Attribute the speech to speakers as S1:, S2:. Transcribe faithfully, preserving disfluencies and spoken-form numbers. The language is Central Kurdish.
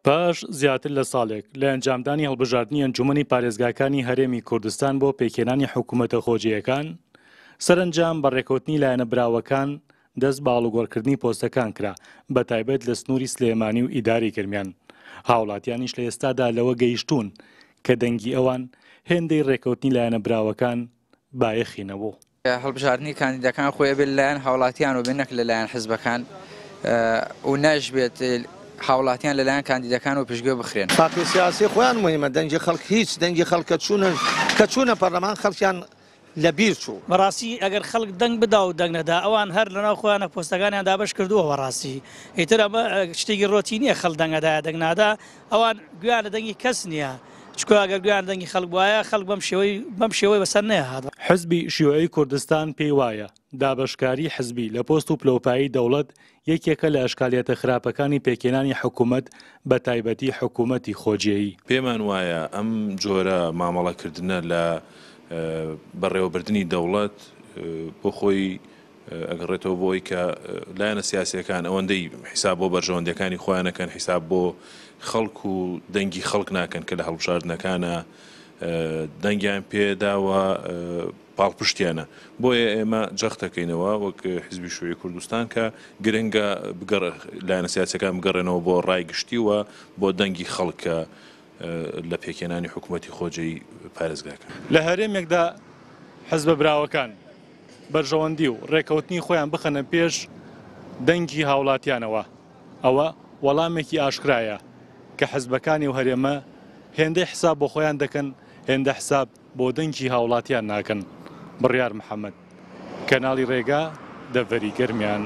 S1: پاش زیاتر لە ساڵێک لە ئەنجامدانی هەڵبژاردنی ئەنجومەنی پارێزگاکانی هەرێمی کوردستان بۆ پێکهێنانی حکوومەتە خۆجێیەکان، سەرەنجام بە ڕێکەوتنی لایەنە براوەکان دەست بە ئاڵوگۆڕکردنی پۆستەکان کرا، بە تایبەت لە سنووری سلێمانی و ئیداری گەرمیان. هاوڵاتیانیش لە ئێستادا لەوە گەیشتوون کە دەنگی ئەوان هێندەی ڕێکەوتنی لایەنە براوەکان بایەخی نەبوو.
S2: هەڵبژاردنی کاندیدەکان خۆی ئەبێت لەلایەن هاوڵاتیان و بێ نەک لەلایەن حزبەکان و ناشبێت هاوڵاتیان لەلایەن کاندیدەکان و پشتگوێ بخرێن.
S3: پارتی سیاسی خۆیان مهمە، دەنگی خەڵک هیچ، دەنگی خەڵک کە چوونە کە چوونە پەرلەمان خەڵکیان لەبیر چوو.
S4: بەڕاستی ئەگەر خەڵک دەنگ بدا و دەنگ نەدا ئەوان هەر لەناو خۆیانە پۆستەکانیان دابەش کردووە. بەڕاستی ئیتر ئەمە شتێکی ڕۆتینیە، خەڵک دەنگ ئەدایە دەنگ نادا، ئەوان گوێیان لە دەنگی کەس نییە، چونکە ئەگەر گوێیان لە دەنگی خەڵک بوایە خەڵک بەم شێوەی بەم شێوەی بەسەر نەیەهات.
S1: حزبی شیوعی کوردستان پێی وایە دابەشکاری حزبی لە پۆست و پلەوپایی دەوڵەت یەکێکە لە ئەشکالیەتە خراپەکانی پێکهێنانی حکوومەت، بە تایبەتی حکوومەتی خۆجێیی.
S5: پێمان وایە ئەم جۆرە مامەڵەکردنە لە بەڕێوەبردنی دەوڵەت بۆ خۆی ئەگەڕێتەوە بۆ ئەوەی کە لایەنە سیاسیەکان ئەوەندەی حیساب بۆ بەرژەوەندیەکانی خۆیان نەکەن، حیساب بۆ خەڵک و دەنگی خەڵک ناکەن کە لە هەڵبژاردنەکانە دەنگیان پێداوە پاڵپشتیانە. بۆیە ئێمە جەختەکەینەوە وەک حزبی شیوعی کوردستان کە گرنگە لایەنە سیاسیەکان بگەڕێنەوە بۆ ڕای گشتی و بۆ دەنگی خەڵک کە لە پێکهێنانی حکوومەتی خۆجێی پارێزگاکە.
S1: لە هەرێمێکدا حزبە براوەکان بەرژەوەندی و ڕێکەوتنی خۆیان بخەنە پێش دەنگی هاوڵاتیانەوە، ئەوە وەڵامێکی ئاشکرایە کە حزبەکانی و هەرێمە هێندەی حساب بۆ خۆیان دەکەن، هێندە حساب بۆ دەنگی هاوڵاتیان ناکەن. بڕیار محەممەد، کەناڵی ڕێگا، دەڤەری گەرمیان.